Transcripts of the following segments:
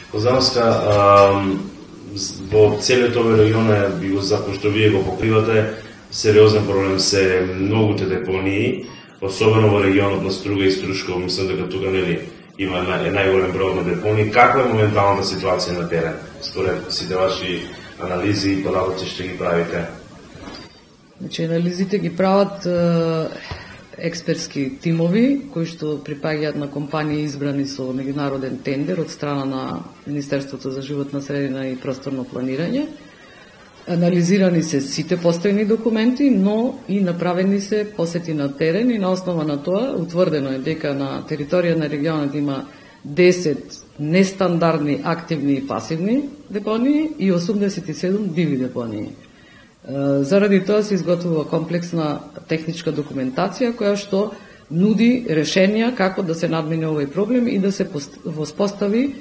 Лозанска, во целиот овој регион би го запошто вие го покривате, сериозен проблем се многуте депонии, особено во регионот на Струга и Струшково, мислам дека тука нели има најголем број на депонии. Каква е моменталната ситуација на терен? Според сите ваши анализи и податоци што ги правите? Значи, анализите ги прават експертски тимови кои што припаѓаат на компании избрани со меѓународен тендер од страна на Министерството за животна средина и просторно планирање. Анализирани се сите постојни документи, но и направени се посети на терен и на основа на тоа утврдено е дека на територија на регионот има 10 нестандардни активни и пасивни депонии и 87 диви депонии. Заради тоа се изготвува комплексна техничка документација која што нуди решенија како да се надмине овој проблем и да се воспостави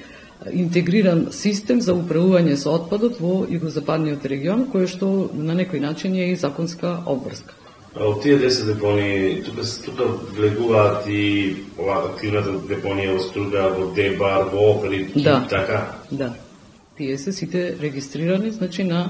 интегриран систем за управување со отпадот во југозападниот регион, кој што на некој начин е и законска обврска. Од тие 10 депонии, тука влегуваат и активната депонија во Струга, во Дебар, во Охрид, така? Да. Тие се сите регистрирани, значи на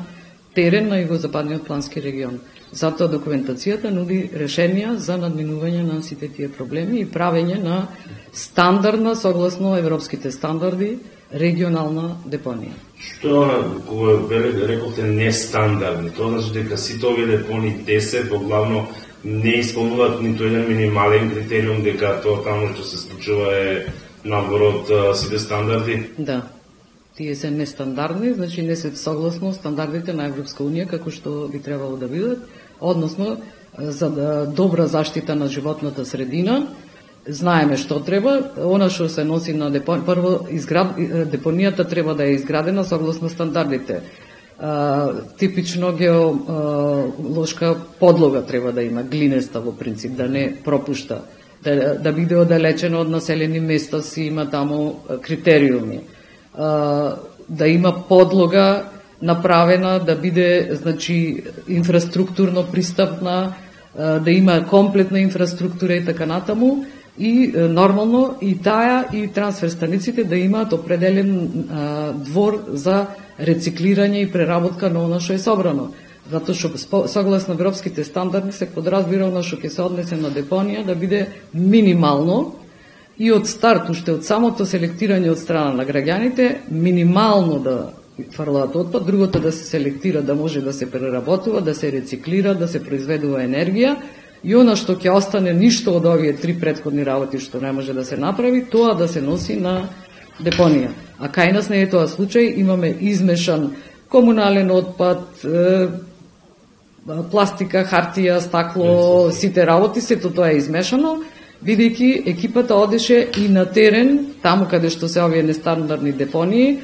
терен на југозападниот плански регион. Затоа документацијата нуди решенија за надминување на сите тие проблеми и правење на стандардна, согласно европските стандарди, регионална депонија. Што, кога рековте нестандардни, тоа значи дека сите овие депонии 10 во главно не исполнуваат ниту еден минимален критериум, дека тоа таму што се случува е надвор од сите стандарди? Да. Тие се нестандардни, значи не се согласно стандардите на Европска Унија како што би требало да бидат, односно за добра заштита на животната средина. Знаеме што треба, она што се носи на депонија, прво депонијата треба да е изградена согласно стандардите. Типично геолошка подлога треба да има, глинеста во принцип, да не пропушта, да биде оддалечена од населени места, си има таму критериуми. Да има подлога направена, да биде, значи, инфраструктурно пристапна, да има комплетна инфраструктура и така натаму, и нормално и таа и трансфер станиците да имаат определен двор за рециклирање и преработка на она што е собрано. Затоа што согласно европските стандарди се подразбира она што ќе се однесе на депонија да биде минимално и од старт, уште од самото селектирање од страна на граѓаните, минимално да фрлаат отпад, другото да се селектира, да може да се преработува, да се рециклира, да се произведува енергија, и она што ќе остане ништо од овие 3 претходни работи што не може да се направи, тоа да се носи на депонија. А кај нас не е тоа случај, имаме измешан комунален отпад, пластика, хартија, стакло, сите работи, сето тоа е измешано, бидејќи екипата одеше и на терен, таму каде што се овие нестандардни депонии.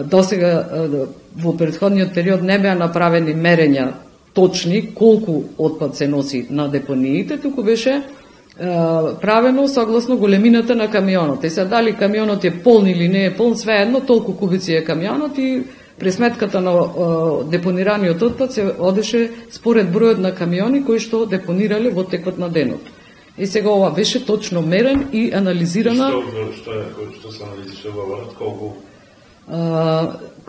Досега во претходниот период не беа направени мерења точни колку отпад се носи на депониите, туку беше правено согласно големината на камионот. Се дали камионот е полн или не е полн, свеедно, толку кубици е камионот и пресметката на депонираниот отпад се одеше според бројот на камиони кои што депонирале во текот на денот. И сега ова беше точно мерен и анализирана. Што се анализи, што говорат, колку?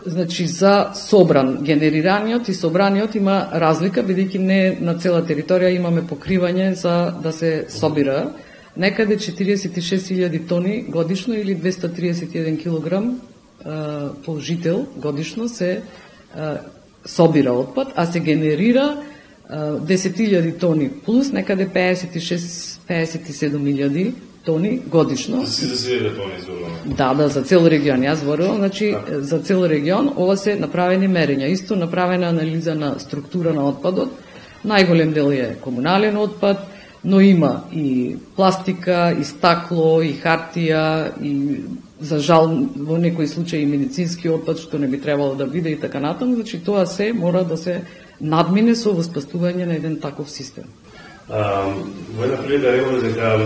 Значи, за собран, генерираниот и собраниот има разлика, бидејќи не на цела територија имаме покривање за да се собира. Некаде 46.000 тони годишно или 231 килограм по жител годишно се собира отпад, а се генерира 10.000 тони плюс некаде 56-57.000 тони годишно. За сите депонии зборуваме? Да, за цел регион. Јас зборувам, значи за цел регион ова се направени мерења. Исто направена анализа на структура на отпадот. Најголем дел е комунален отпад, но има и пластика, и стакло, и хартија, и за жал во некои случаи и медицински отпад што не би требало да биде и така натаму. Значи тоа се мора да се надмине со воспоставување на еден таков систем. Во една прилика реколе дека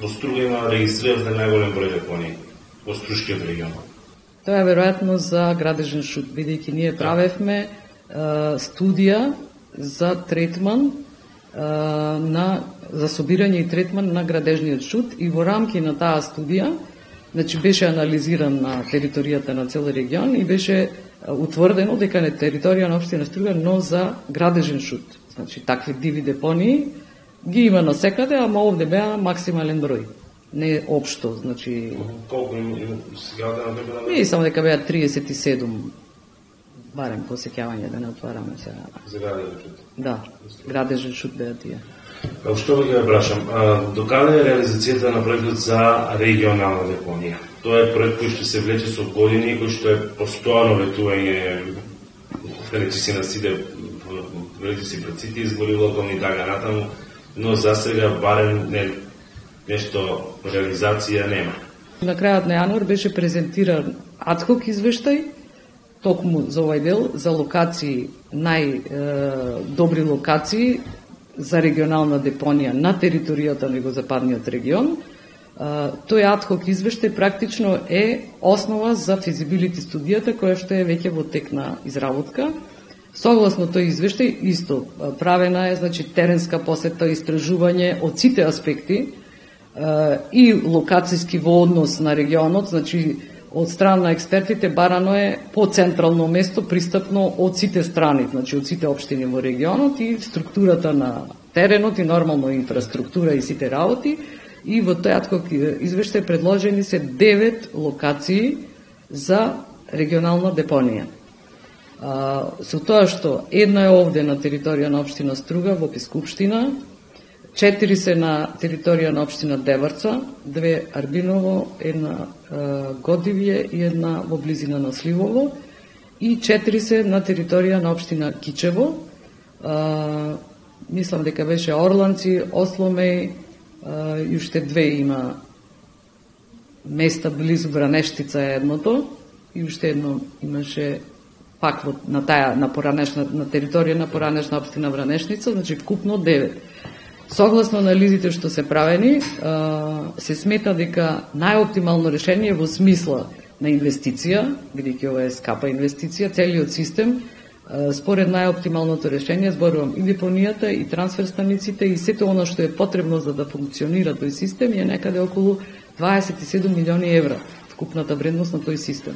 во Струга има регистриран најголем број депонии во Струшкиот регион. Тоа е веројатно за градежен шут, бидејќи ние правевме студија за третман за собирање и третман на градежниот шут и во рамки на таа студија Значи беше анализиран на територијата на цел регион и беше утврдено дека на територија на општина Струга, но за градежен шут. Значи такви диви депонии ги има насекаде, ама овде беа максимален број. Не општо, значи... Колку има сега да например? Не, само дека беа 37, барем по сеќавање да не отвараме сега. За градежен шут? Да, градежен шут беа тие. Што ви ќе прашам, докаде е реализацијата на проектот за регионална депонија? Тоа е проект кој што се влече со години, кој што е постојано ветување, речи си на сите, речи си пред сите избори локални и така натаму, но за сега барем нешто реализација нема. На крајот на јануар беше презентиран адхок извештај, токму за овај дел, за локации, најдобри локации за регионална депонија на територијата на Југозападниот регион. Тој адхок извештај практично е основа за физибилити студијата која што е веќе во тек на изработка. Согласно тој извештај исто правена е, значи, теренска посета, истражување од сите аспекти и локацијски во однос на регионот, значи од страна на експертите барано е по централно место пристапно од сите страни, значи од сите општини во регионот и структурата на теренот и нормално инфраструктура и сите работи. И во тој адхок извештај предложени се 9 локации за регионална депонија. Со тоа што една е овде на територија на општина Струга во Пескупштина, 4 се на територија на општина Деварца, 2 Арбиново, 1 Годивје и 1 во близина на Сливово и 4 се на територија на општина Кичево. Мислам дека беше Орланци, Осломеј и уште 2 има места близу Вранештица е едното и уште едно имаше пак на територија на поранешна општина Вранешница, значи вкупно 9. Согласно анализите што се правени, се смета дека најоптимално решение во смисла на инвестиција, бидејќи ова е скапа инвестиција, целиот систем, според најоптималното решение, зборувам и депонијата, и трансфер станиците, и сето оно што е потребно за да функционира тој систем, е некаде околу 27 милиони евра, вкупната вредност на тој систем.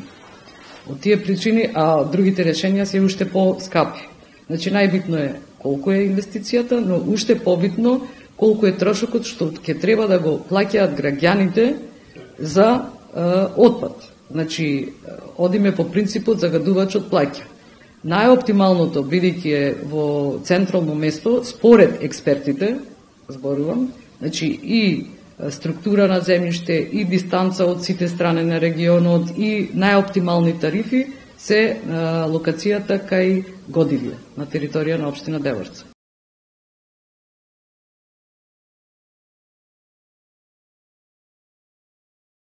Од тие причини, а другите решенија се уште по-скапи. Значи, најбитно е колку е инвестицијата, но уште побитно колку е трошокот што ќе треба да го плаќаат граѓаните за отпад. Значи, одиме по принципот загадувачот плаќа. Најоптималното, бидејќи е во централно место, според експертите, зборувам, значи и структура на земјиште, и дистанца од сите страни на регионот, и најоптимални тарифи, се локацијата кај Годивје, на територија на општина Деварца.